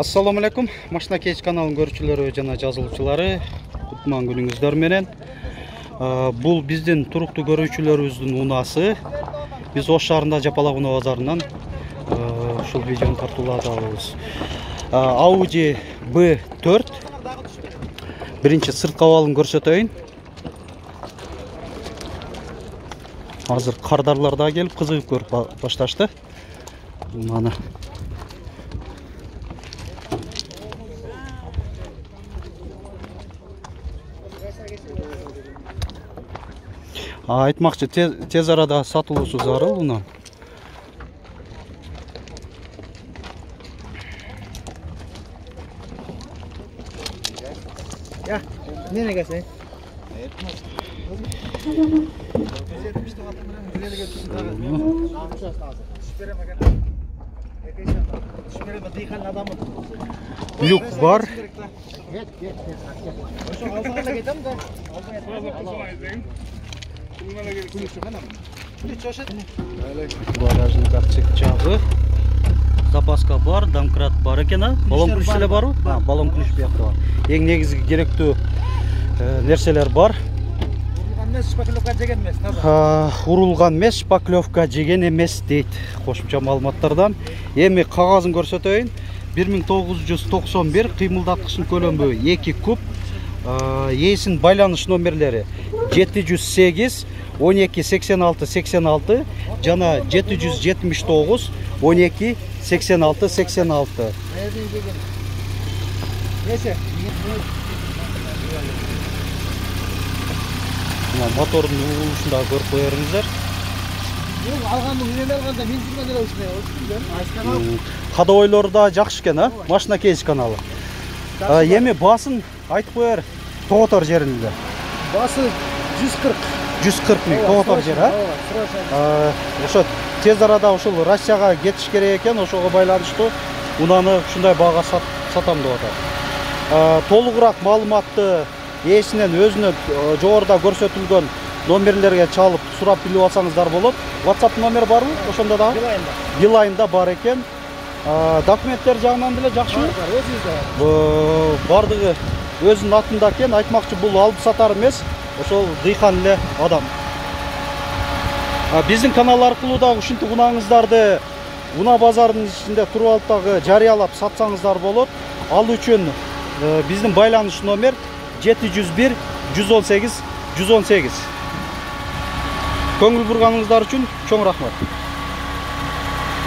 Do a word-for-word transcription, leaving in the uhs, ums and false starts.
Assalamu alaikum. Машина Кейч каналынын көрүүчүлөрү жана жазылуучулары, кутман күнүңүздөр менен. Бул биздин туруктуу көрүүчүлөрүбүздүн унаасы. Биз Ош шаарында Жапалак унаа базарынан ушул видеону тартуулап алабыз. Audi B төрт. Биринчи сырткы абалын көрсөтөйүн. Азыр кардарлар да келип кызыгып көрүп башташты. Мана айтмакчы, тез арада сатылуусу зарыл унаа. Ya, nereye gelsin? Люк бар. Багажник ачык жагы. Запаска бар, домкрат бар экен, а? Баллон ключ эле барбы? А, баллон ключ биякта бар. Эң негизги керектүү нерселер бар. Шпаклевка жеген эмес, таза. Урулган эмес, шпаклевка жеген эмес дейт кошумча маалыматтардан. Эми кагазын көрсөтөйүн. бир миң тогуз жүз токсон бир кыймылдаткычтын көлөмү эки куб. Ээсинин байланыш номерлери жети жүз сегиз он эки сексен алты сексен алты жана жети жүз жетимиш тогуз он эки сексен алты сексен алты. Мотордун угулушун да көрүп коерсиңер. Алгандын үйрөнүп алганда мен жүргөн эле ушуну. Кадойлору да жакшы экен, а? Машина Кейч каналы. Эми басын айтып коер тоготор жеринде. Басы жүз кырк. жүз кырк миң тоготор жер, а? Ошо тез арада ушул Россияга кетиш керек экен, ошого байланыштуу унааны ушундай баага сатам деп атат. Толугураак маалыматты ээсинен өзүнө жогоруда көрсөтүлгөн номерлерге чалып сурап билип алсаңыздар болот. WhatsApp номер барбы? Ошондо да Билайнда бар экен. Документтер жагынан деле жакшыбы? Өзүбүздө. Бардыгы өзүнүн атында экен. Айтмакчы, бул алып сатар эмес, ошол дыйкан эле адам. Биздин канал аркылуу да ушинтип унааңыздарды унаа базарынын ичинде туруп алып дагы жарыялап сатсаңыздар болот. Ал үчүн биздин байланыш номер жети жүз бир жүз он сегиз жүз он сегиз. Көңүл бурганыңыздар үчүн чоң рахмат.